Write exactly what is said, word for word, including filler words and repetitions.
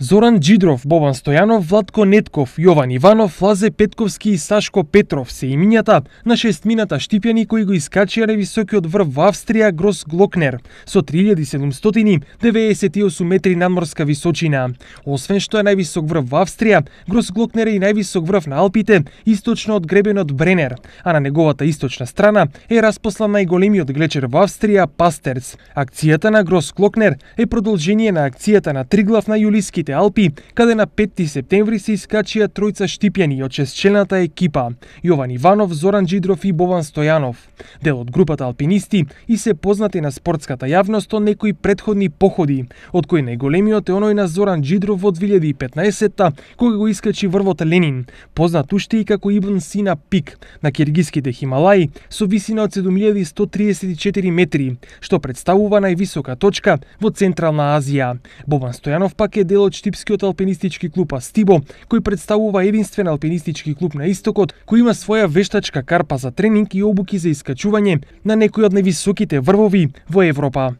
Зоран Џидров, Бобан Стојанов, Владко Нетков, Јован Иванов, Лазе Петковски и Сашко Петров се имињата на шестмината штипјани кои го искачија највисокиот врв во Австрија Гросглокнер со три илјади седумстотини деветдесет и осум метри надморска височина. Освен што е највисок врв во Австрија, Гросглокнер е и највисок врв на Алпите, источно од гребенот Бренер, а на неговата источна страна е распослан најголемиот глечер во Австрија Пастерц. Акцијата на Гросглокнер е продолжение на акцијата на Триглав на Јулиските Алпи, каде на петти септември се искачија тројца штипјани од шестчлената екипа Јован Иванов, Зоран Џидров и Бобан Стојанов. Дел од групата алпинисти и се познати на спортската јавност од некои претходни походи, од кои најголемиот е оној на Зоран Џидров во две илјади и петнаесетта, кога го искачи врвот Ленин, познат уште и како Ибн Сина пик на киргиските Хималаи со висина од седум илјади сто триесет и четири метри, што представува највисока точка во Централна Азија. Бобан Стојанов пак е дел од штипскиот алпинистички клуб Астибо, кој представува единствен алпинистички клуб на истокот, кој има своја вештачка карпа за тренинг и обуки за искачување на некои од највисоките врвови во Европа.